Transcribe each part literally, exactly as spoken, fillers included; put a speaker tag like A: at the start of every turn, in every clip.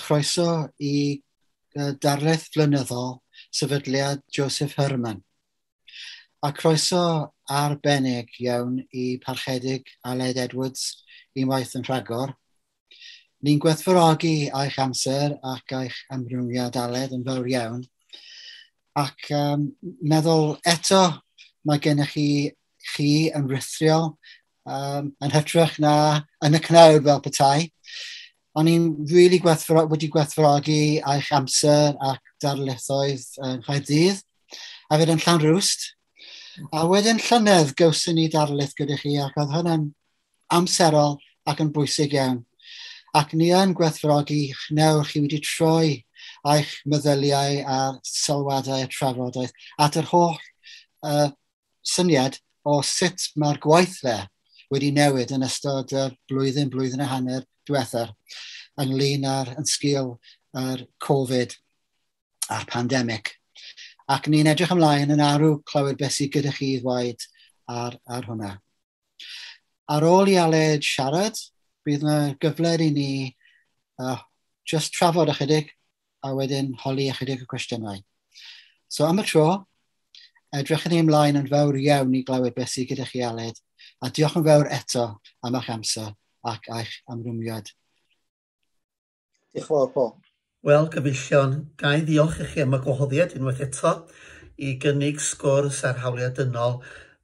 A: croeso i darlith flynyddol Sefydliad Joseph Herman. A croeso arbennig iawn i Parchedig Aled Edwards unwaith yn rhagor. Ni'n gwerthfawrogi eich amser ac eich ymrwymiad, Aled, yn fawr iawn. Ac um, meddwl eto mae gennych chi, chi yn rhithiol um, yn hytrach na yn y cnawd fel petai. O'n i'n really gwerthfawro wedi gwerthfawrogi eich amser ac darlithoedd yng Nghaerdydd, a hefyd yn Llanrwst. A wedyn llynedd gawson ni darlith gyda chi, ac oedd hwnna'n amserol ac yn bwysig iawn. Ac ni yn gwerthfawrogi nawr chi wedi troi eich meddyliau a'r sylwadau a trafodaeth at yr holl uh, syniad o sut mae'r gweithle wedi newid yn ystod y blwyddyn, blwyddyn a hanner diwethaf ynglyn â'r yn sgil yr Covid a'r pandemig. Ac ni'n edrych ymlaen yn arw clywed beth sydd gyda chi i ddweud ar, ar hwnna. Ar ôl i Aled siarad, bydd yna gyfle i ni uh, just trafod ychydig a wedyn holi ychydig o cwestiynau. So am y tro, edrych ni ymlaen yn fawr iawn i glywed beth sydd gyda chi, Aled, a diolch yn fawr eto am eich amser ac eich ymrwymiad.
B: Diolch yn fawr, Paul.
C: Wel, gyfeillion, ga i ddiolch i chi am y gwahoddiad unwaith eto i gynnig sgwrs ar hawliau dynol,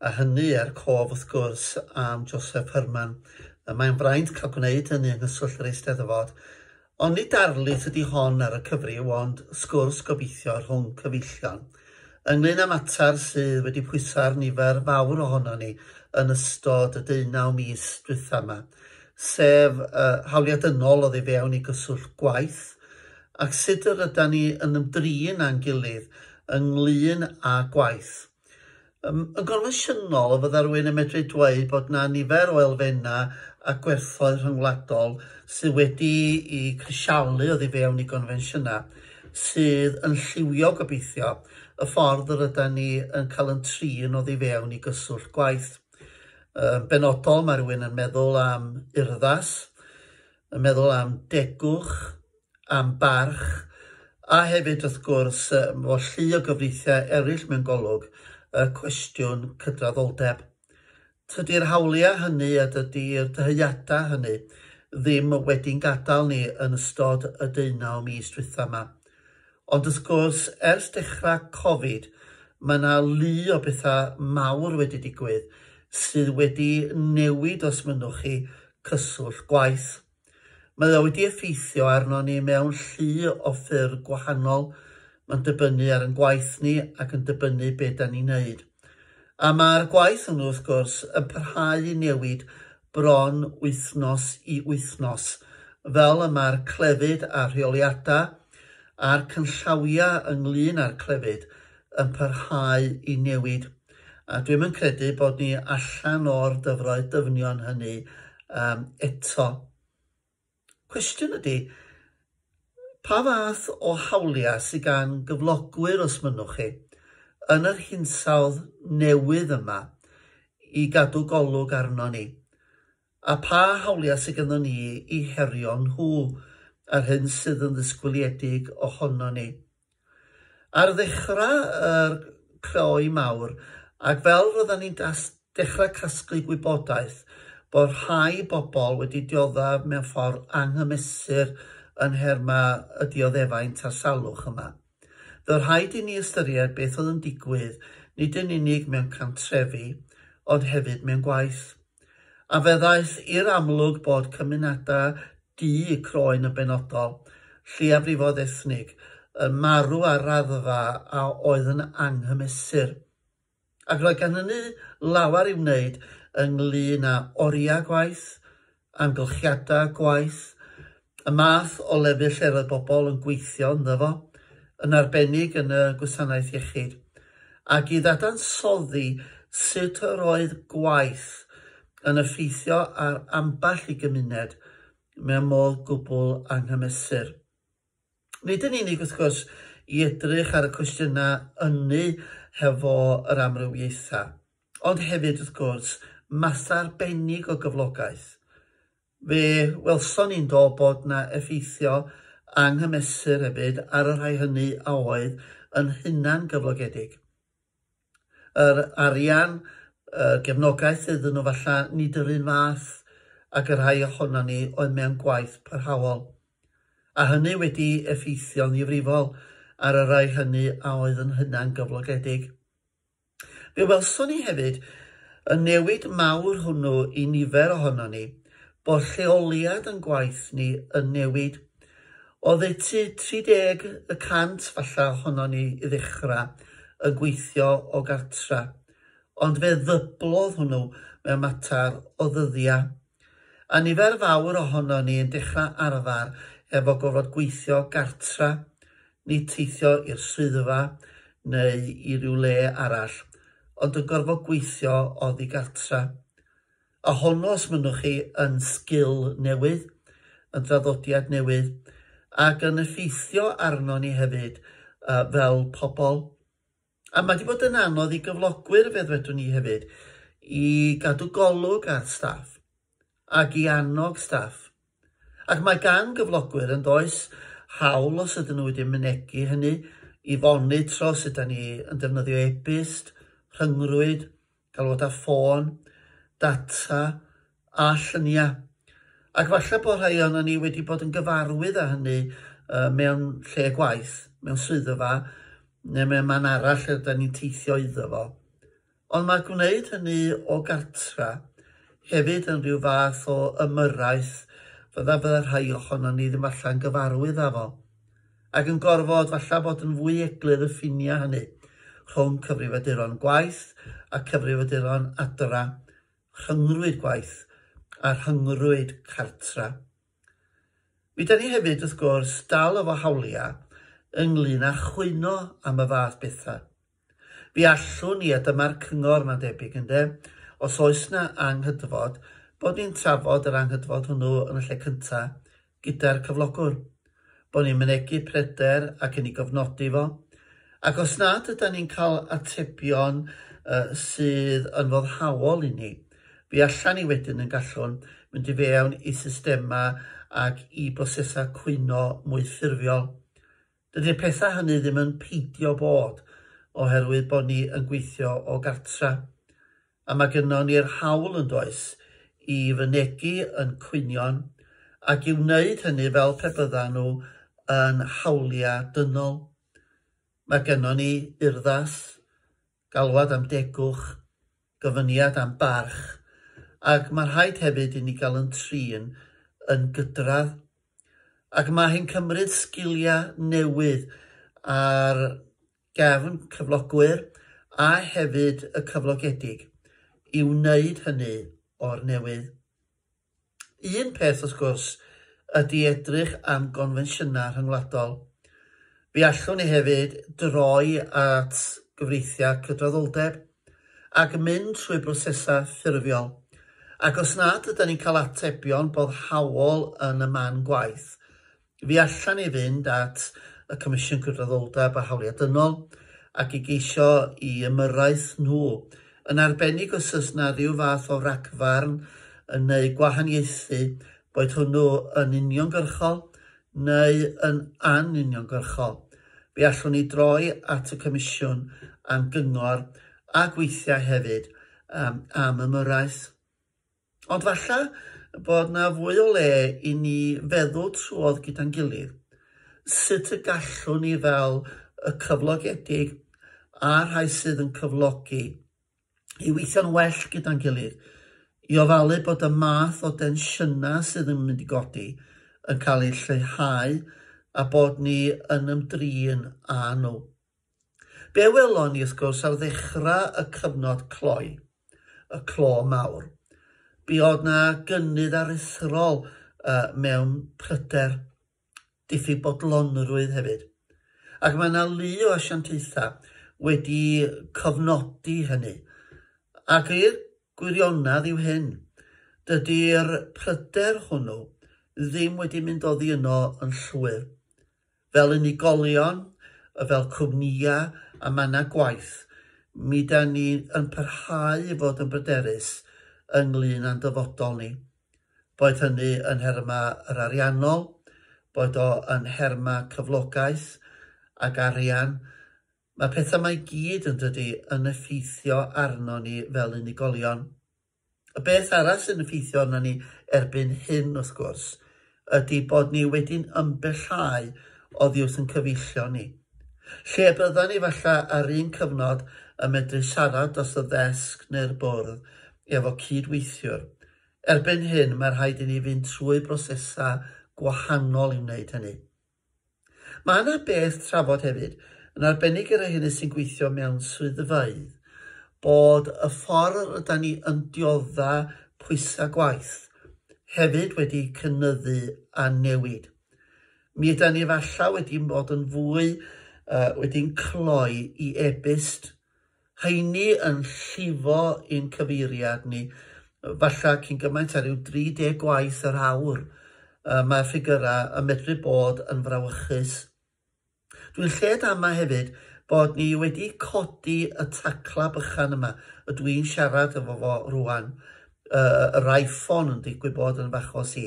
C: a hynny er cof, wrth gwrs, am Joseph Herman. Mae'n fraint cael gwneud hynny yng nghyswllt yr Eisteddfod. Ond nid darlith ydy hon ar y cyfryw, ond sgwrs gobeithio rhwng cyfeillion ynglyn â mater sydd wedi pwyso ar nifer fawr ohono ni yn ystod y deunaw mis dwytha yma, sef uh, hawliau dynol oddi fewn i gyswllt gwaith, ac sut yr ydan ni yn ymdrin â'n gilydd ynglyn â gwaith. Um, yn gonfensiynol, fydda rhywun yn medru dweud bod na nifer o elfennau a gwerthoedd rhyngwladol sydd wedi i crisialu oddi fewn i gonfensiynau sydd yn lliwio gobeithio y ffordd yr ydan ni yn cael yn trin oddi fewn i gyswllt gwaith. Yn benodol, mae rhywun yn meddwl am urddas, yn meddwl am degwch, am barch, a hefyd wrth gwrs, fo llu o gyfreithiau eraill mewn golwg, y cwestiwn cydraddoldeb. Tydi'r hawliau hynny a dydi'r dyheadau hynny ddim wedi'n gadael ni yn ystod y deunaw mis dwytha yma. Ond wrth gwrs, ers dechrau Covid, mae yna lu o bethau mawr wedi digwydd sydd wedi newid, os mynnwch chi, cyswllt gwaith. Mae o wedi effeithio arno ni mewn llu o ffyrdd gwahanol. Mae'n dibynnu ar ein gwaith ni ac yn dibynnu be da ni'n neud. A mae'r gwaith hwnnw, wrth gwrs, yn parhau i newid bron wythnos i wythnos, fel y mae'r clefyd a rheoliadau a'r cynllawiau ynglyn â'r clefyd yn parhau i newid. A dwi'm yn credu bod ni allan o'r dyfroedd dyfnion hynny um, eto. Cwestiwn ydy, pa fath o hawliau sydd gan gyflogwyr, os mynnwch chi, yn yr hinsawdd newydd yma i gadw golwg arno ni? A pa hawliau sydd ganddo ni i herio nhw a'r hyn sydd yn ddisgwyliedig ohono ni? Ar ddechrau yr cloi mawr, ac fel roedden ni'n dechrau casglu gwybodaeth, bod rhai bobl wedi dioddef mewn ffordd anghymesur yn nherma y dioddefaint a'r salwch yma. Fe rhaid i ni ystyried beth oedd yn digwydd, nid yn unig mewn cantrefi, ond hefyd mewn gwaith. A fe ddaeth i'r amlwg bod cymunedau du croen yn benodol, lleiafrifoedd ethnig, yn marw ar raddfa a oedd yn anghymesur. Ac roedd gan hynny lawer i'w wneud ynglyn â oriau gwaith, amgylchiadau gwaith, y math o lefydd lle roedd bobl yn gweithio ynddo fo, yn arbennig yn y gwasanaeth iechyd, ac i ddadansoddi sut yr oedd gwaith yn effeithio ar ambell i gymuned mewn modd gwbl anghymesur. Nid yn unig, wrth gwrs, i edrych ar y cwestiynau ynny hefo yr amrywiaethau, ond hefyd, wrth gwrs, math arbennig o gyflogaeth. Fe welson ni'n do bod na effeithio anghymesur hefyd ar y rhai hynny a oedd yn hunan gyflogedig. Yr arian, y gefnogaeth iddyn nhw falle nid yr un fath ac y rhai ohonon ni oedd mewn gwaith parhaol. A hynny wedi effeithio'n ddifrifol ar y rhai hynny a oedd yn hunan gyflogedig. Fe welson ni hefyd y newid mawr hwnnw i nifer ohonon ni, bod lleoliad yn gwaith ni yn newid. Oddeutu tri deg y cant falle ohonon ni i ddechrau yn gweithio o gartra, ond fe ddyblodd hwnnw mewn mater o ddyddiau. A nifer fawr ohonon ni yn dechrau arfer efo gorfod gweithio gartra, nid teithio i'r swyddfa neu i ryw le arall, ond yn gorfod gweithio oddi gartra. A honno, os mynnwch chi, yn sgil newydd, yn draddodiad newydd, ac yn effeithio arno ni hefyd uh, fel pobl. A mae wedi bod yn anodd i gyflogwyr, fe ddwedwn ni hefyd, i gadw golwg ar staff ac i annog staff. Ac mae gan gyflogwyr yn does hawl, os ydyn nhw wedi mynegi hynny, i fonitro sut ydyn ni yn defnyddio e-byst, rhyngrwyd, galwadau ffôn, data a lluniau. Ac falle bod rhai ohonon ni wedi bod yn gyfarwydd â hynny uh, mewn lle gwaith, mewn swyddfa, neu mewn man arall lle ydyn ni'n teithio iddo fo. Ond mae gwneud hynny o gartra hefyd yn rhyw fath o ymyrraeth fydda fydda rhai ohonon ni ddim allan gyfarwydd â fo. Ac yn gorfod falle bod yn fwy eglur y ffiniau hynny rhwng cyfrifiaduron gwaith a cyfrifiaduron adra, rhyngrwyd gwaith a rhyngrwyd cartra. Mi da ni hefyd, wrth gwrs, dal efo hawliau ynglyn â chwyno am y fath bethau. Fi allwn ni, a dyma'r cyngor mae'n debyg, ynde, os oes na anghydfod, bod ni'n trafod yr anghydfod hwnnw yn y lle cyntaf gyda'r cyflogwr. Bod ni'n mynegi pryder ac yn ei gofnodi fo. Ac os nad ydan ni'n cael atebion uh, sydd yn foddhaol i ni, fi allan ni wedyn yn gallwn mynd i fewn i systemau ac i brosesau cwyno mwy ffurfiol. Dydy'r pethau hynny ddim yn peidio bod oherwydd bod ni yn gweithio o gartra. A mae gynnon ni'r hawl yn does i fynegi yn cwynion ac i wneud hynny fel pe byddan nhw yn hawliau dynol. Mae gynnon ni urddas, galwad am degwch, gofyniad am barch, ac mae rhaid hefyd i ni gael yn trin yn gydradd. Ac mae hi'n cymryd sgiliau newydd ar gefn cyflogwyr a hefyd y cyflogedig i wneud hynny o'r newydd. Un peth, wrth gwrs, ydy edrych am gonfensiynau rhyngwladol. Fe allwn ni hefyd droi at gyfreithiau cydraddoldeb ac mynd trwy brosesau ffurfiol. Ac os nad ydyn ni'n cael atebion boddhaol yn y man gwaith, fi allan ni fynd at y Comisiwn Cydraddoldeb a Hawliau Dynol ac i geisio i ymyrraeth nhw, yn arbennig os oes na ryw fath o ragfarn neu gwahaniaethu, boed hwnnw yn uniongyrchol neu yn anuniongyrchol. Fe allwn ni droi at y Comisiwn am gyngor a gweithiau hefyd um, am ymyrraeth. Ond falle bod na fwy o le i ni feddwl trwodd gyda'n gilydd sut y gallwn ni fel y cyflogedig a'r rhai sydd yn cyflogi i weithio'n well gyda'n gilydd, i ofalu bod y math o densiynau sydd yn mynd i godi yn cael eu lleihau a bod ni yn ymdrin â nhw. Be welon ni, wrth gwrs, ar ddechrau y cyfnod cloi, y clo mawr, buodd na gynnydd aruthrol uh, mewn pryder, diffyg bodlonrwydd hefyd. Ac mae yna lu o asiantaethau wedi cofnodi hynny. Ac i'r gwirionedd yw hyn, dydy'r pryder hwnnw ddim wedi mynd oddi yno yn llwyr. Fel unigolion, fel cwmnïau a mannau gwaith, mi da ni yn parhau i fod yn bryderus ynglyn â'n dyfodol ni. Boed hynny yn nhermau yr ariannol, Boed o yn nherma cyflogaeth ac arian. Mae pethau 'ma i gyd yn dydy yn effeithio arno ni fel unigolion. Y beth arall sy'n effeithio arno ni erbyn hyn, wrth gwrs, ydy bod ni wedi'n ymbellhau oddi wrth yn cyfeillion ni. Lle byddan ni falle ar un cyfnod yn medru siarad dros y ddesg neu'r bwrdd efo cydweithiwr. Erbyn hyn, mae rhaid i ni fynd trwy brosesau gwahanol i wneud hynny. Mae yna beth trafod hefyd, yn arbennig i'r rhai hynny sy'n gweithio mewn swyddfeydd, bod y ffordd ydan ni yn diodda pwysau gwaith hefyd wedi cynyddu a newid. Mi ydan ni falle wedi bod yn fwy uh, wedi'n cloi i e-byst, heini yn llifo i'n cyfeiriad ni, falle cyn gymaint ar ryw dri deg gwaith yr awr. Uh, mae ffigurau yn medru bod yn frawychus. Dwi'n lled ama hefyd bod ni wedi codi y tacla bychan yma, y dwi'n siarad efo fo rwan, uh, yr iPhone yn digwydd bod yn fachos i.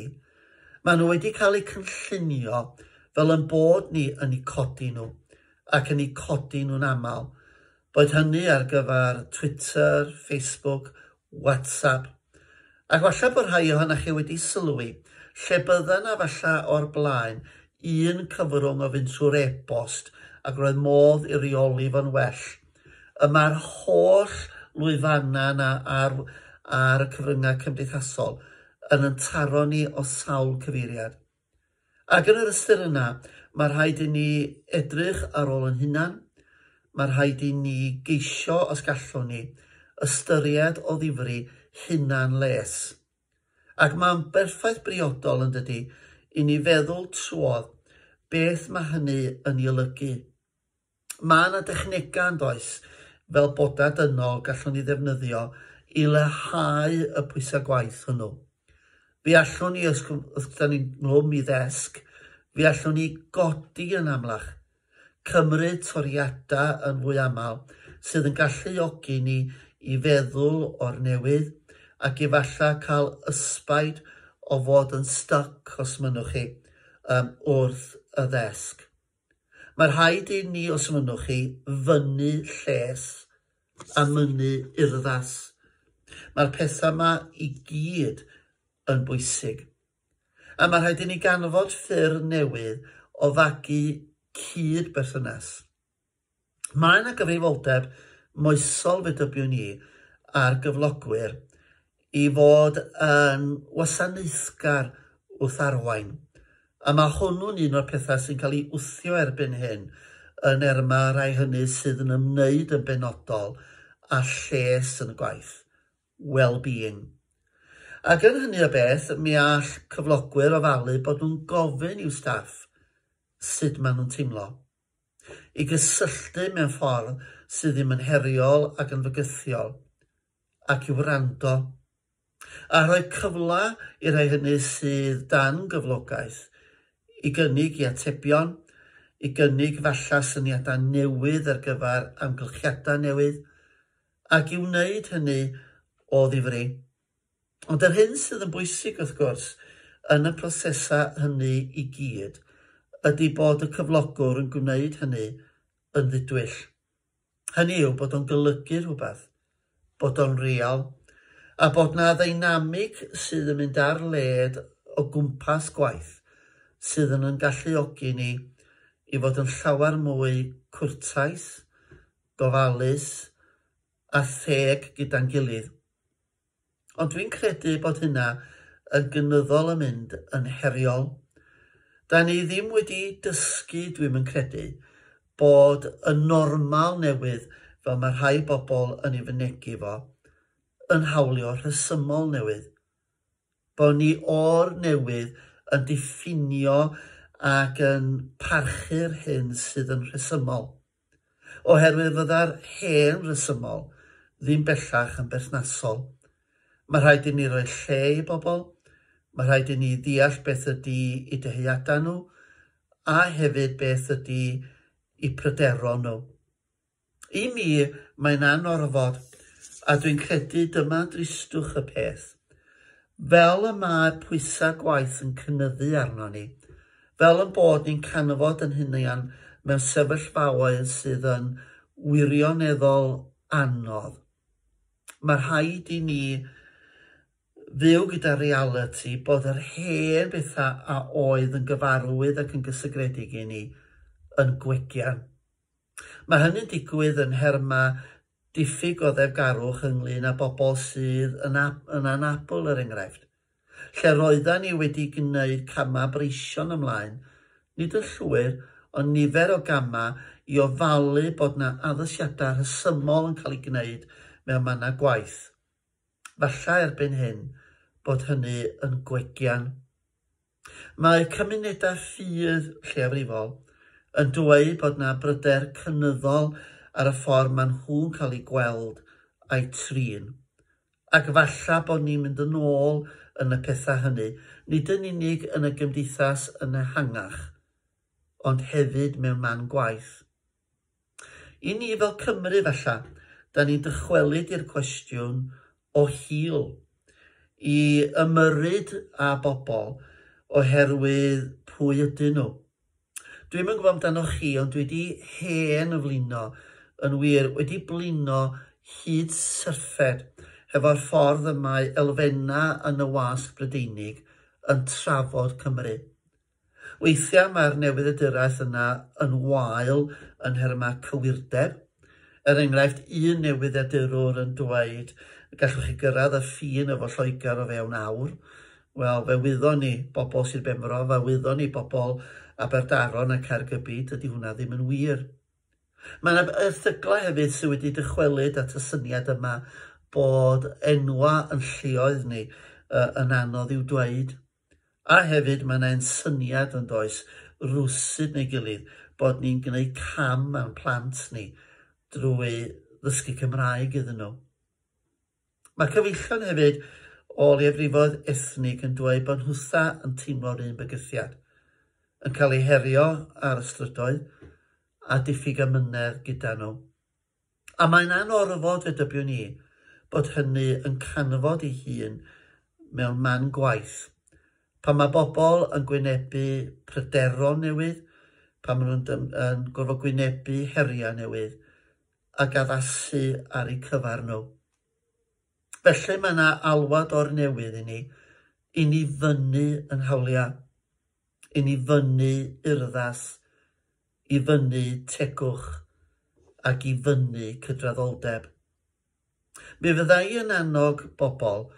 C: Maen nhw wedi cael eu cynllunio fel yn bod ni yn eu codi nhw, ac yn eu codi nhw'n aml. Boed hynny ar gyfer Twitter, Facebook, WhatsApp. Ac falle bod rhai ohonoch chi wedi sylwi, lle bydda 'na falle o'r blaen un cyfrwng o fynd trwy'r e-bost ac roedd modd i reoli fo'n well. Y mae'r holl lwyfannau yna ar, ar y cyfryngau cymdeithasol yn yn taro ni o sawl cyfeiriad. Ac yn yr ystyr yna, mae rhaid i ni edrych ar ôl yn hunan, mae rhaid i ni geisio, os gallwn ni, ystyried o ddifri hunan les. Ac mae'n berffaith briodol yn dydy i ni feddwl trwodd beth mae hynny yn ei olygu. Mae yna dechnegau yn does, fel bodau dynol gallwn ni ddefnyddio i leihau y pwysau gwaith hwnnw. Fi allwn ni, os da ni'n nghlwm i ddesg, fi allwn ni godi yn amlach, cymryd toriadau yn fwy aml, sydd yn galluogi ni i feddwl o'r newydd ac efallai cael ysbaid o fod yn stuck, os mynnwch chi, um, wrth y ddesg. Mae rhaid i ni, os mynnwch chi, fynnu lles a mynnu urddas. Mae'r pethau yma i gyd yn bwysig. A mae rhaid i ni ganfod ffyrdd newydd o fagu cyd-berthynas. Mae yna gyfrifoldeb moesol, fe dybiwn i, ar gyflogwyr i fod yn wasanaethgar wrth arwain. A mae hwnnw'n un o'r pethau sy'n cael ei wthio erbyn hyn yn erma rai hynny sydd yn ymwneud yn benodol â lles yn y gwaith, well-being. Ac yn hynny o beth, mi all cyflogwyr ofalu bod nhw'n gofyn i'w staff sut maen nhw'n teimlo, i gysylltu mewn ffordd sydd ddim yn heriol ac yn fygythiol, ac i wrando, a rhoi cyfle i'r rhai hynny sydd dan gyflogaeth i gynnig i atebion, i gynnig falle syniadau newydd ar gyfer amgylchiadau newydd, ac i wneud hynny o ddifri. Ond yr hyn sydd yn bwysig, wrth gwrs, yn y prosesau hynny i gyd, ydy bod y cyflogwr yn gwneud hynny yn ddidwyll. Hynny yw bod o'n golygu rhywbeth, bod o'n real, a bod na ddeinamig sydd yn mynd ar led o gwmpas gwaith sydd yn yn galluogi ni i fod yn llawer mwy cwrtais, gofalus a theg gyda'n gilydd. Ond dwi'n credu bod hynna yn gynyddol yn mynd yn heriol. Da ni ddim wedi dysgu, dwi'm yn credu, bod y normal newydd, fel mae rhai bobl yn ei fynegi fo, yn hawlio rhesymol newydd. Bod ni o'r newydd yn diffinio ac yn parchu'r hyn sydd yn rhesymol. Oherwydd fydda'r hen rhesymol ddim bellach yn berthnasol. Mae rhaid i ni roi lle i bobl, mae rhaid i ni ddeall beth ydy eu dyheadau nhw, a hefyd beth ydy eu pryderon nhw. I mi, mae'n anorfod, a dwi'n credu dyma dristwch y peth. Fel y mae pwysau gwaith yn cynyddu arno ni, Fel yn bod ni'n canfod yn hunain mewn sefyllfaoedd sydd yn wirioneddol anodd. Mae rhaid i ni fyw gyda realiti bod yr hen bethau a oedd yn gyfarwydd ac yn gysegredig i ni yn gwegian. Mae hynny'n digwydd yn nherma diffyg goddefgarwch ynglyn â bobl sydd yn, yn anabl, er enghraifft. Lle roeddan ni wedi gwneud camau breision ymlaen, nid yn llwyr, ond nifer o gamau i ofalu bod na addasiadau rhesymol yn cael ei gwneud mewn mannau gwaith. Falle erbyn hyn bod hynny yn gwegian. Mae cymunedau ffydd lleiafrifol yn dweud bod na bryder cynyddol ar y ffordd maen nhw'n cael eu gweld a'u trin. Ac falle bod ni'n mynd yn ôl yn y pethau hynny, nid yn unig yn y gymdeithas yn ehangach, ond hefyd mewn man gwaith. I ni fel Cymru falle, da ni'n dychwelyd i'r cwestiwn o hil, i ymyrryd â bobl oherwydd pwy ydyn nhw. Dwi'm yn gwybod amdanoch chi, ond dwi wedi hen flino, yn wir, wedi blino hyd syrffed hefo'r ffordd y mae elfennau yn y wasg Brydeinig yn trafod Cymru. Weithiau mae'r newyddiaduraeth yna yn wael yn nhermau cywirdeb. Er enghraifft, un newyddiadurwr yn dweud gallwch chi gyrraedd y ffin efo Lloegr o fewn awr. Wel, fe wyddon ni bobl Sir Benfro, fe wyddon ni bobl Aberdaron a Caergybi, dydy hwnna ddim yn wir. Mae yna erthyglau hefyd sydd wedi dychwelyd at y syniad yma bod enwa yn lleoedd ni uh, yn anodd i'w dweud. A hefyd mae yna syniad yn does rwsyd neu gilydd bod ni'n gwneud cam mewn plant ni drwy ddysgu Cymraeg iddyn nhw. Mae cyfeillion hefyd o leiafrifoedd ethnig yn dweud bod nhwtha yn teimlo'r un bygythiad, yn cael eu herio ar y strydoedd a diffyg amynedd gyda nhw. A mae'n anorfod, fe dybiwn i, bod hynny yn canfod ei hun mewn man gwaith. Pan mae bobl yn gwynebu pryderon newydd, pan maen nhw'n yn gorfod gwynebu heriau newydd ac addasu ar eu cyfer nhw. Felly mae yna alwad o'r newydd i ni, i ni fyny yn hawliau, i ni fyny urddas, i fyny tegwch ac i fyny cydraddoldeb. Mi fydda i yn annog bobl,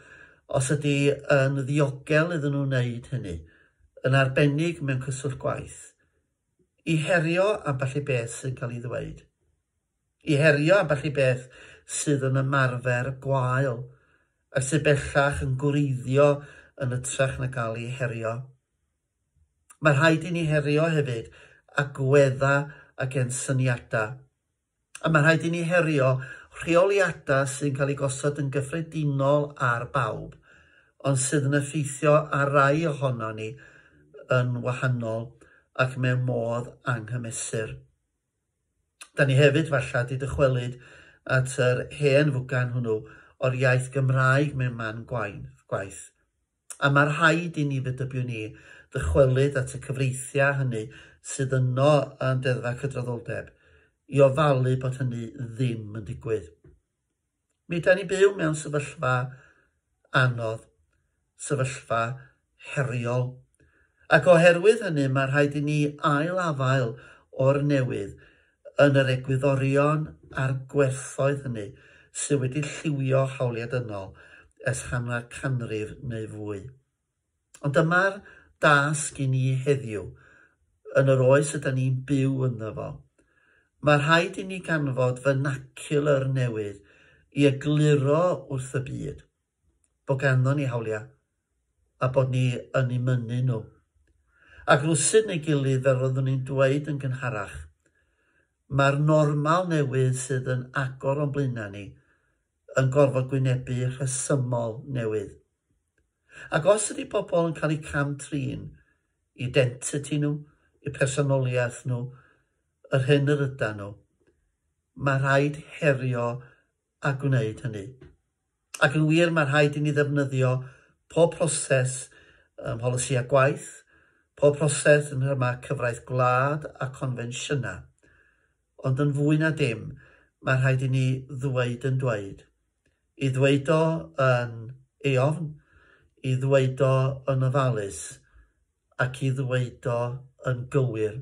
C: os ydy yn ddiogel iddyn nhw wneud hynny, yn arbennig mewn cyswllt gwaith, i herio ambell i beth sy'n cael ei ddweud, i herio ambell i beth sydd yn ymarfer gwael, ac sydd bellach yn gwreiddio yn hytrach na gael ei herio. Mae rhaid i ni herio hefyd agwedda ac ensyniadau. A mae rhaid i ni herio rheoliadau sy'n cael eu gosod yn gyffredinol ar bawb, ond sydd yn effeithio ar rai ohono ni yn wahanol ac mewn modd anghymesur. Da ni hefyd falle wedi dychwelyd at yr hen fwgan hwnnw o'r iaith Gymraeg mewn man gwaith. A mae rhaid i ni, fe dybiwn ni, ddychwelyd at y cyfreithiau hynny sydd yno yn Deddfa Cydraddoldeb i ofalu bod hynny ddim yn digwydd. Mi da ni byw mewn sefyllfa anodd, sefyllfa heriol. Ac oherwydd hynny mae rhaid i ni ail-afael o'r newydd yn yr egwyddorion a'r gwerthoedd hynny sydd wedi lliwio hawliau dynol ers hanner canrif neu fwy. Ond dyma'r dasg i ni heddiw, yn yr oes ydan ni'n byw ynddo fo. Mae rhaid i ni ganfod vernacular newydd i egluro wrth y byd bod ganddo ni hawliau a bod ni yn eu mynnu nhw. Ac rwsut neu gilydd, fel roeddwn ni'n dweud yn gynharach, mae'r normal newydd sydd yn agor o'n blaenau ni yn gorfod gwynebu rhesymol newydd. Ac os ydy pobl yn cael eu cam-trin, identity nhw, eu personoliaeth nhw, yr hyn yr ydan nhw, mae rhaid herio a gwneud hynny. Ac yn wir, mae rhaid i ni ddefnyddio pob proses um, polisi a gwaith, Pob proses yn nhermau cyfraith gwlad a confensiynau, ond yn fwy na dim, mae rhaid i ni ddweud yn dweud. I ddweud o yn eofn, i ddweud o yn ofalus, ac i ddweud o yn gywir.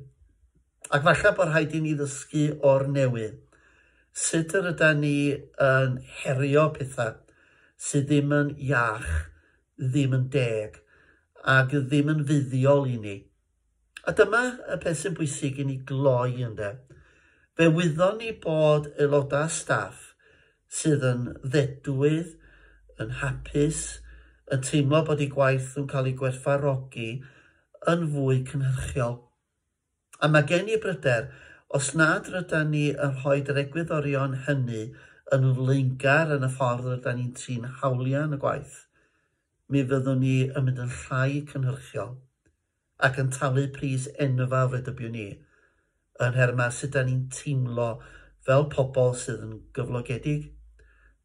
C: Ac falle bod rhaid i ni ddysgu o'r newydd. Sut yr ydan ni yn herio pethau sydd ddim yn iach, ddim yn deg, ac ddim yn fuddiol i ni. A dyma y peth sy'n bwysig i ni gloi ynde. Fe wyddon ni bod aelodau staff sydd yn ddedwydd, yn hapus, yn teimlo bod eu gwaith yn cael ei gwerthfawrogi yn fwy cynhyrchiol. A mae gen i bryder, os nad rydan ni yn rhoi yr egwyddorion hynny yn flaengar yn y ffordd rydan ni'n trin hawliau yn y gwaith, mi fyddwn ni yn mynd yn llai cynhyrchiol ac yn talu pris enfawr fe dybiwn ni yn nhermau sut dan ni'n teimlo fel pobl sydd yn gyflogedig,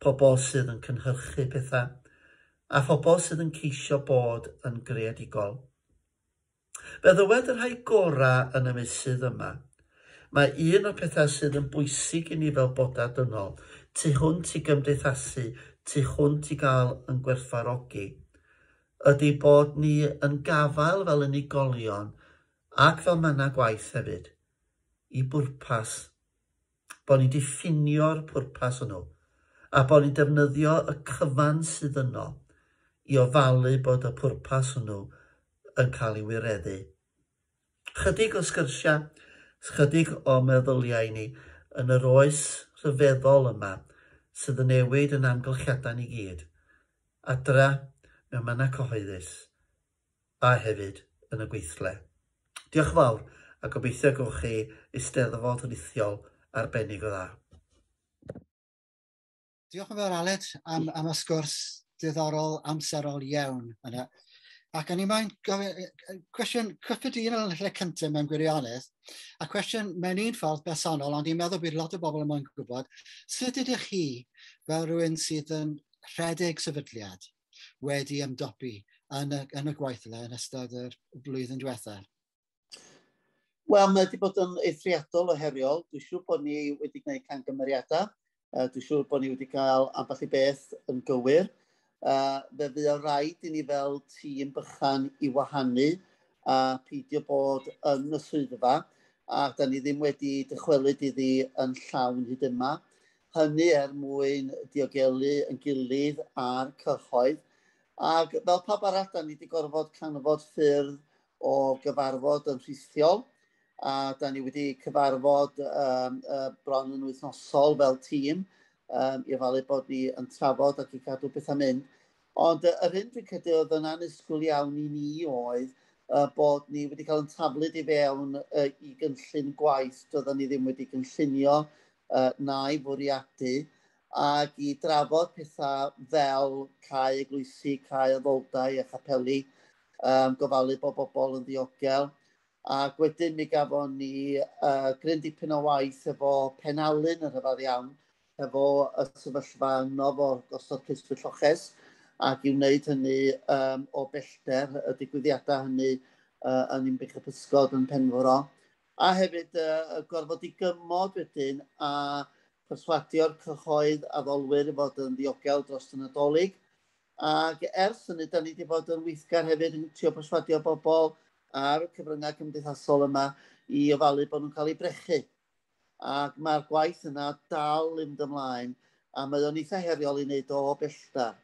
C: pobl sydd yn cynhyrchu pethau, a phobl sydd yn ceisio bod yn greadigol. Fe ddywed y rhai gorau yn y meysydd yma, mae un o'r pethau sydd yn bwysig i ni fel bodau dynol, tu hwnt i gymdeithasu, tu hwnt i gael yn gwerthfawrogi, ydy bod ni yn gafael fel unigolion ac fel mannau gwaith hefyd, i bwrpas, bod ni'n diffinio'r pwrpas hwnnw, a bod ni'n defnyddio y cyfan sydd yno i ofalu bod y pwrpas hwnnw yn cael ei wireddu. Chydig o sgyrsiau, chydig o meddyliau ni yn yr oes rhyfeddol yma sydd yn newid yn amgylchiadau ni gyd, adra mewn mannau cyhoeddus a hefyd yn y gweithle. Diolch yn fawr a gobeithio gewch chi eisteddfod rithiol arbennig o dda.
A: Diolch yn fawr Aled am, am y sgwrs diddorol, amserol iawn yna. Ac o'n i moyn gofyn cwestiwn cyffredinol yn y lle cyntaf mewn gwirionedd, a cwestiwn mewn un ffordd bersonol, ond i'n meddwl bydd lot o bobl yn moyn gwybod, sut ydych chi fel rhywun sydd yn rhedeg sefydliad wedi ymdopi yn y, yn y gweithle yn ystod yr blwyddyn diwethaf?
B: Wel, mae wedi bod yn eithriadol o heriol. Dwi'n siŵr bod ni wedi gwneud camgymeriadau. Uh, dwi'n siŵr bod ni wedi cael ambell i beth yn gywir. Uh, fe fydd o rhaid i ni fel tîm bychan i wahanu a peidio bod yn y swyddfa, a da ni ddim wedi dychwelyd iddi yn llawn hyd yma. Hynny er mwyn diogelu yn gilydd a'r cyhoedd. Ac fel pawb arall, da ni wedi gorfod canfod ffyrdd o gyfarfod yn rhithiol, a da ni wedi cyfarfod um, uh, bron yn wythnosol fel tîm, um, i ofalu bod ni yn trafod ac i cadw bethau'n mynd. Ond uh, yr hyn dwi'n credu oedd yn annisgwyl iawn i ni oedd uh, bod ni wedi cael yn taflud i fewn uh, i gynllun gwaith doedden ni ddim wedi gynllunio uh, na'i fwriadu, ac i drafod pethau fel cau eglwysi, cau addoldai a chapeli, um, gofalu bod bobl yn ddiogel. Ac wedyn mi gafon ni uh, gryn dipyn o waith efo Penalun yn rhyfedd iawn, efo y sefyllfa yno fo gosod ceiswyr lloches, ac i wneud hynny um, o bellter, y digwyddiadau hynny uh, yn Ninbych y Pysgod yn Penfro. A hefyd uh, gorfod i gymod wedyn a perswadio'r cyhoedd addolwyr i fod yn ddiogel dros y Nadolig. Ac ers hynny, da ni wedi bod yn weithgar hefyd yn trio perswadio bobl ar y cyfryngau cymdeithasol yma i ofalu bod nhw'n cael eu brechu. Ac mae'r gwaith yna dal i fynd ymlaen, a mae o'n eitha heriol i wneud o bellter.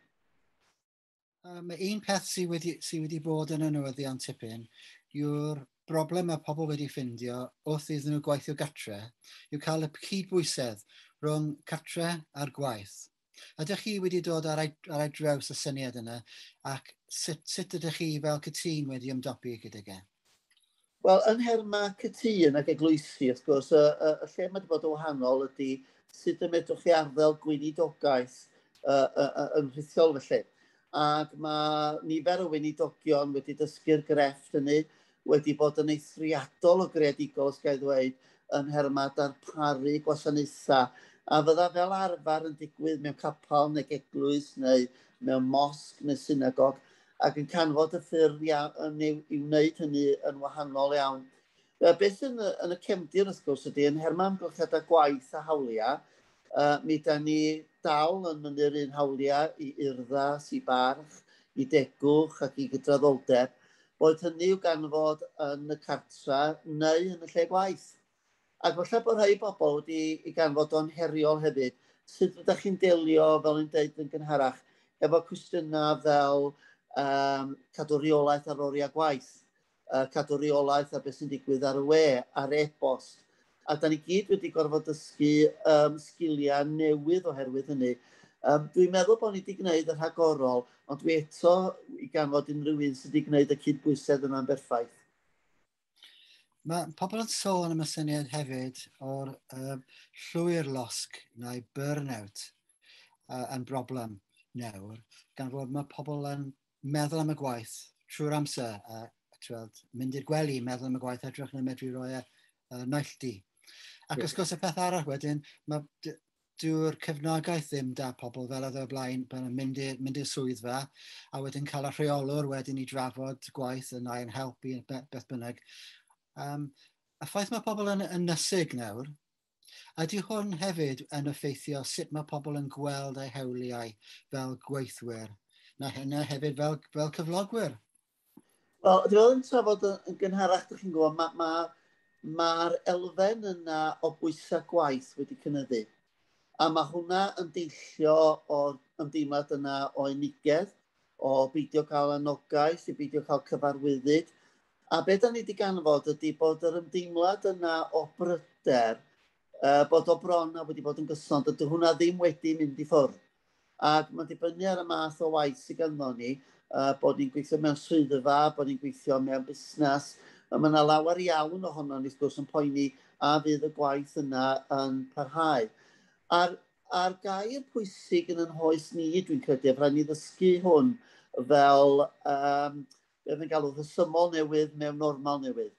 A: Um, un peth sydd wedi, sy wedi bod yn y newyddion tipyn yw'r broblem mae pobl wedi ffindio wrth iddyn nhw gweithio gatre yw cael y cydbwysedd rhwng catre a'r gwaith. Ydych chi wedi dod ar ei, ar ei draws y syniad yna, ac sut, sut ydych chi fel Cytûn wedi ymdopi gydag e?
B: Wel, yn nhermau Cytûn ac eglwysi, wrth gwrs, y, y, y lle mae wedi bod yn wahanol ydy sut y medrwch chi arddel gweinidogaeth uh, uh, uh, yn rhithiol felly. Ac mae nifer o weinidogion wedi dysgu'r grefft hynny, wedi bod yn eithriadol o greadigol, os ga i ddweud, yn nhermau darparu gwasanaethau, a fydda fel arfer yn digwydd mewn capel neu eglwys neu mewn mosg neu synagog, Ac yn canfod y ffyrdd iawn, i wneud hynny yn wahanol iawn. Beth yn y, yn y cefndir, wrth gwrs, ydy, yn nhermau amgylchiadau gwaith a hawliau, uh, mi da ni dal yn mynnu'r un hawliau i urddas, i barch, i degwch ac i gydraddoldeb, boed hynny i'w ganfod yn y cartra neu yn y lle gwaith. Ac falle bod rhai bobl wedi i ganfod o'n heriol hefyd, sut ydych chi'n delio, fel yn deud yn gynharach, efo cwestiynau fel um, cadw reolaeth ar oriau gwaith, uh, cadw reolaeth ar beth sy'n digwydd ar y we, ar e-bost. A da ni gyd wedi gorfod dysgu um, sgiliau newydd oherwydd hynny. Um, dwi'n meddwl bod ni wedi gwneud y rhagorol, ond dwi eto i ganfod unrhyw un sydd wedi gwneud y cydbwysedd yna'n berffaith.
A: Mae pobl yn sôn am y syniad hefyd o'r uh, llwyr losg neu burnout uh, yn broblem nawr, gan fod mae pobl yn meddwl am y gwaith trwy'r amser, a tweld, mynd i'r gwely, meddwl am y gwaith, edrych yn medru roi e uh, nailltu. Ac yeah. Wrth gwrs y peth arall wedyn, mae dyw'r cefnogaeth ddim da pobl fel oedd o'r blaen, pan yn mynd i'r mynd i'r swyddfa, a wedyn cael y rheolwr wedyn i drafod gwaith yn yn helpu, beth bynnag. Um, y ffaith mae pobl yn ynysig nawr, ydy hwn hefyd yn effeithio sut mae pobl yn gweld eu hawliau fel gweithwyr, na hynna hefyd fel, fel cyflogwyr?
B: Wel, dwi'n meddwl yn trafod yn gynharach, dych chi'n gwybod, mae'r ma, ma, ma elfen yna o bwysau gwaith wedi cynyddu. A mae hwnna yn deillio o'r ymdeimlad yna o unigedd, o beidio cael anogaeth, i beidio cael cyfarwyddyd. A be da ni wedi ganfod ydy bod yr ymdeimlad yna o bryder, uh, bod o bron a wedi bod yn gyson, dydy hwnna ddim wedi mynd i ffwrdd. Ac mae'n dibynnu ar y math o waith sydd ganddo ni, uh, bod ni'n gweithio mewn swyddfa, bod ni'n gweithio mewn busnes. Mae yna lawer iawn ohono ni, wrth gwrs, yn poeni a fydd y gwaith yna yn parhau. A'r, a'r gair pwysig yn yn hoes ni, dwi'n credu, rhaid ni ddysgu hwn fel, um, beth yn galw, rhesymol newydd mewn normal newydd,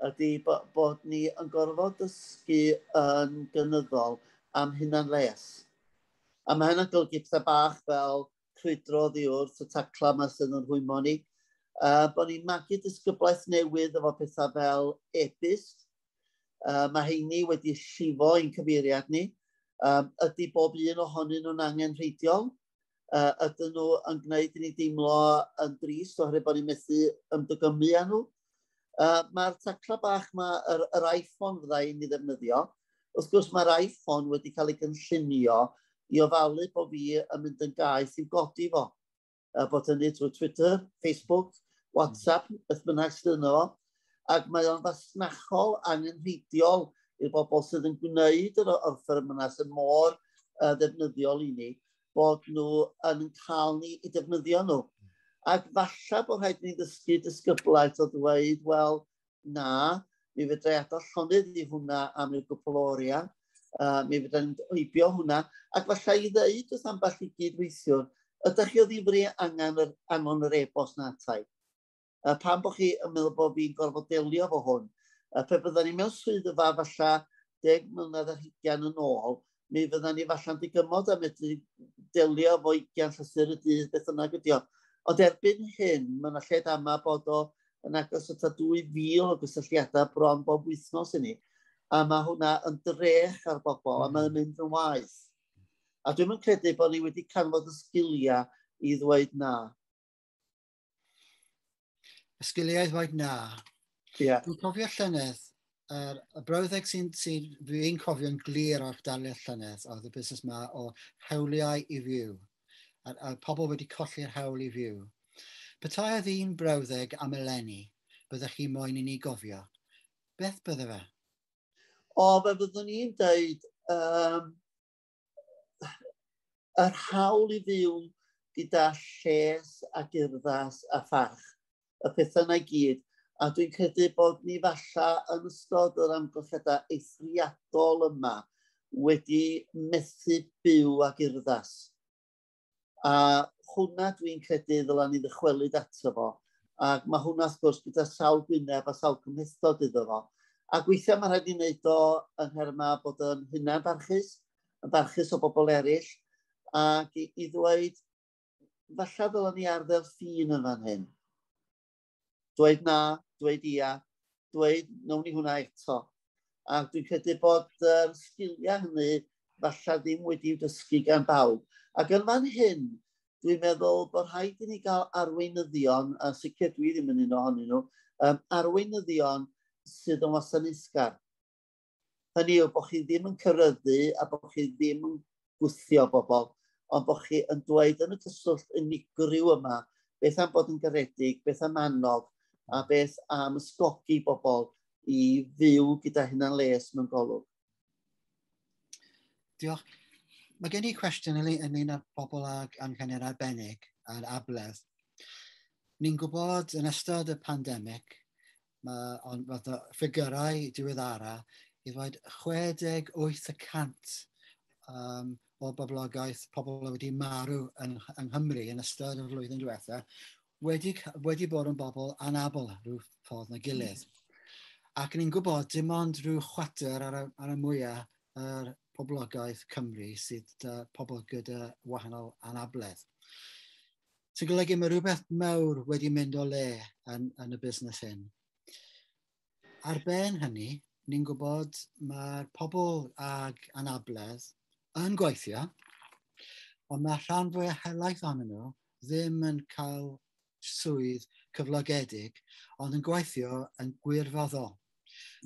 B: ydy bod, bod ni yn gorfod dysgu yn gynyddol am hunan les. A mae hynna'n golygu pethau bach fel crwydro oddi wrth y tacla yma sydd yn rhwymo ni. Uh, bod ni'n magu disgyblaeth newydd efo pethau fel e-byst. Uh, mae heini wedi llifo i'n cyfeiriad ni. Um, ydy bob un ohonyn nhw'n angenrheidiol? Uh, ydyn nhw yn gwneud i ni deimlo yn drist oherwydd bod ni'n methu ymddygymu â nhw? Uh, mae'r tacla bach, ma, yr, yr iPhone fydda i'n ei ddefnyddio. Wrth gwrs mae'r iPhone wedi cael ei gynllunio i ofalu bod fi yn mynd yn gaeth i'w godi fo. Uh, bod hynny trwy Twitter, Facebook, WhatsApp, beth bynnag sydd yno fo. Ac mae o'n fasnachol angenrheidiol i'r bobl sydd yn gwneud yr offer yma sydd mor uh, ddefnyddiol i ni, bod nhw yn cael ni i defnyddio nhw. Ac falle bod rhaid ni ddysgu disgyblaeth o ddweud, wel, na, mi fedra i adael llonydd i hwnna am ryw gwpl o oriau, uh, mi fedra i'n heibio hwnna, ac falle i ddeud wrth ambell i gydweithiwr, ydych chi o ddifri angen yr, anfon yr e-bost na atai? Uh, pam bod chi yn meddwl bod fi'n gorfod delio efo hwn? Uh, pe bydden ni mewn swyddfa falle deg mlynedd ar hugain yn ôl, mi fydden ni falle'n digymod a medru delio efo ugain llythyr y dydd, beth bynnag ydi o. Ond erbyn hyn, mae yna lled ama bod o yn agos at dwy fil o gysylltiadau bron bob wythnos i ni. A mae hwnna yn drech ar bobl, mm. a mae'n mynd yn waeth. A dwi'n yn credu bod ni wedi canfod y sgiliau i ddweud na.
A: Y sgiliau i ddweud na.
B: Yeah.
A: Dwi'n cofio llynedd, yr, y brawddeg sy'n sy fi'n cofio'n glir o'r darlith llynedd oedd y busnes yma o hawliau i fyw. A, a pobl wedi colli'r hawl i fyw. Petai oedd un brawddeg am eleni, byddech chi moyn i ni gofio. Beth bydde fe?
B: O, fe fyddwn ni'n deud um, yr hawl i fyw gyda lles ac urddas a pharch. Y pethau yna i gyd. A dwi'n credu bod ni falle yn ystod yr amgylchiadau eithriadol yma wedi methu byw ag urddas. A hwnna dwi'n credu ddylan ni ddychwelyd ato fo. Ac mae hwnna wrth gwrs gyda sawl gwyneb a sawl cymhlethdod iddo fo. Ac weithiau mae rhaid i wneud o yn nhermau bod yn hunan barchus, yn barchus o bobl eraill, ac i, i ddweud, Falle ddylen ni arddel ffin yn fan hyn. Dweud na, dweud ia, dweud nawn ni hwnna eto. A dwi'n credu bod yr um, sgiliau hynny falle ddim wedi'w dysgu gan bawb. Ac yn fan hyn, dwi'n meddwl bod rhaid i ni gael arweinyddion, a sicr dwi ddim yn un ohonyn nhw, um, arweinyddion sydd yn wasanaethgar. Hynny yw bod chi ddim yn cyryddu a bod chi ddim yn gwthio bobl, ond bod chi yn dweud yn y cyswllt unigryw yma, beth am bod yn garedig, beth am annog, a beth am ysgogi bobl i fyw gyda hunan les mewn golwg.
A: Diolch. Mae gen i cwestiwn ynglyn â bobl ag anghenion arbennig a'r abledd. Ni'n gwybod yn ystod y pandemig, mae, ond fath o ffigurau diweddara, i ddweud chwe deg wyth y cant um, o boblogaeth pobl wedi marw yn, yng Nghymru yn ystod y flwyddyn diwetha, wedi, wedi bod yn bobl anabl rhyw ffordd na gilydd. Ac ni'n gwybod dim ond rhyw chwarter ar y, ar y mwyaf yr poblogaeth Cymru sydd uh, pobl gyda wahanol anabledd. Sy'n golygu mae rhywbeth mawr wedi mynd o le yn, yn y busnes hyn. Ar ben hynny, ni'n gwybod mae'r pobl ag anabledd yn gweithio, ond mae rhan fwyaf helaeth ohonyn nhw ddim yn cael swydd cyflogedig, ond yn gweithio yn gwirfoddol.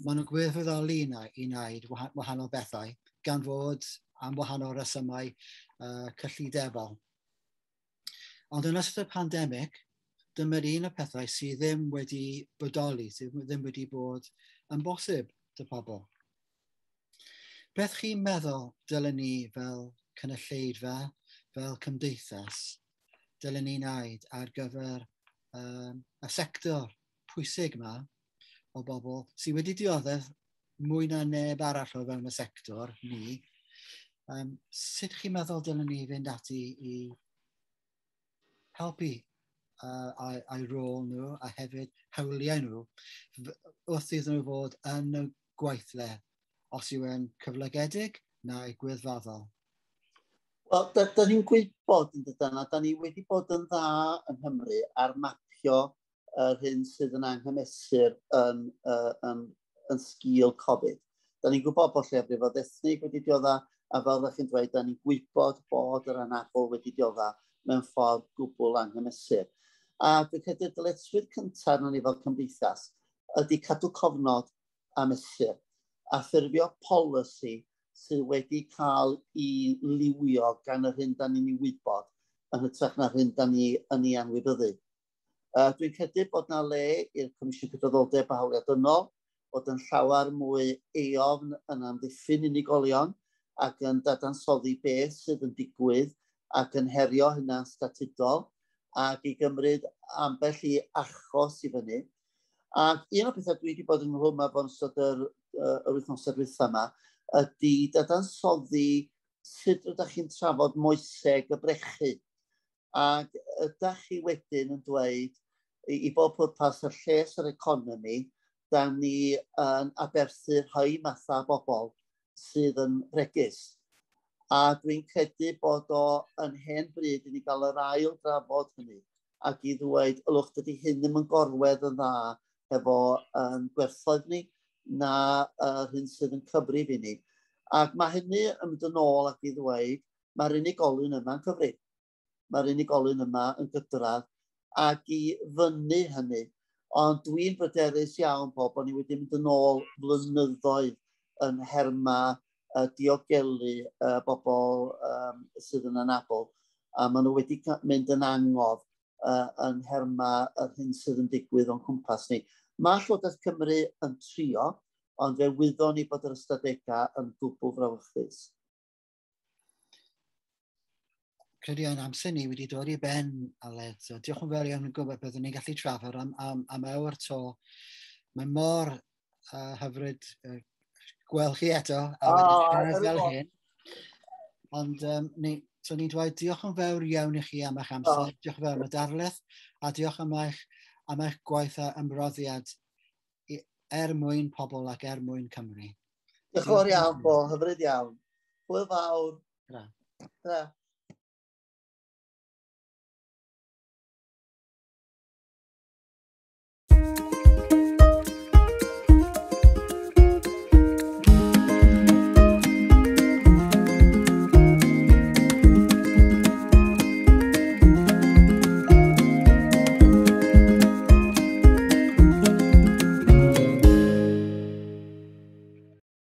A: Maen nhw'n gwirfoddoli i wneud wahanol bethau, gan fod am wahanol resymau uh, cyllidebol. Ond yn ystod y pandemig, dyma'r un o'r pethau sydd ddim wedi bodoli, sydd ddim wedi bod yn bosib dy pobl. Beth chi'n meddwl dylen ni fel cynulleidfa, fel cymdeithas, dylen ni wneud ar gyfer um, y sector pwysig yma o bobl sydd wedi dioddef mwy na neb arall o fewn y sector, ni. Um, sut chi'n meddwl dylen ni fynd ati i helpu uh, a'i, a'i rôl nhw a hefyd hawliau nhw wrth iddyn nhw fod yn y gweithle, os yw e'n cyflogedig neu gwirfoddol?
B: Wel, da, da ni'n gwybod yn dydan, a da ni wedi bod yn dda yng Nghymru ar mapio yr hyn sydd yn anghymesur yn, uh, yn, yn sgil Covid. Da ni'n gwybod bod lleiafrifoedd ethnig wedi diodda, a fel ydych chi'n dweud, da ni'n gwybod bod yr anabl wedi diodda mewn ffordd gwbl anghymesur. A dwi'n credu'r dyletswydd cyntaf arnon ni fel cymdeithas ydy cadw cofnod a mesur, a ffurfio polisi sydd wedi cael ei liwio gan yr hyn da ni'n ei wybod yn hytrach na'r hyn da ni yn ei anwybyddu. Uh, dwi'n credu bod na le i'r Comisiwn Cydraddoldeb a Hawliau Dynol bod yn llawer mwy eofn yn amddiffyn unigolion ac yn dadansoddi beth sydd yn digwydd ac yn herio hynna'n statudol ac i gymryd ambell i achos i fyny. Ac un o'r pethau dwi wedi bod yn nghlwm efo yn ystod yr, yr wythnosau dwytha yma ydy dadansoddi sut ydych chi'n trafod moeseg y brechu. Ac ydych chi wedyn yn dweud i, i bob pwrpas y lles yr economi, da ni yn aberthu rhai mathau bobl sydd yn bregus. A dwi'n credu bod o yn hen bryd i ni gael yr ail drafod hynny ac i ddweud, ylwch, dydy hyn ddim yn gorwedd yn dda hefo um, gwerthoedd ni na yr hyn sydd yn cyfrif i ni. Ac mae hynny yn mynd yn ôl ac i ddweud, mae'r unigolyn yma'n cyfrif. Mae'r unigolyn yma yn gydradd ac i fyny hynny. Ond dwi'n bryderus iawn bod bod ni wedi mynd yn ôl flynyddoedd yn herma uh, diogelu uh, bobl um, sydd yn anabl. A maen nhw wedi mynd yn angof uh, yn herma yr hyn sydd yn digwydd o'n cwmpas ni. Mae Llywodraeth Cymru yn trio, ond fe wyddon ni bod yr ystadegau yn gwbl frawychus.
A: Credu yn amser ni wedi dod i ben, Aled. So, diolch yn fawr iawn yn gwybod byddwn ni'n gallu trafod am, am, am awr to. Mae mor uh, hyfryd uh, gweld chi eto, a wedi siarad fel hyn. Ond um, ni, so ni'n dweud diolch yn fawr iawn i chi am eich amser, oh. Diolch yn fawr am y darlith, a diolch am eich, am eich gwaith a ymroddiad er mwyn pobl ac er mwyn Cymru.
B: Diolch yn fawr iawn, Bo, hyfryd iawn. Hwyl fawr.
A: Tra.
B: Tra.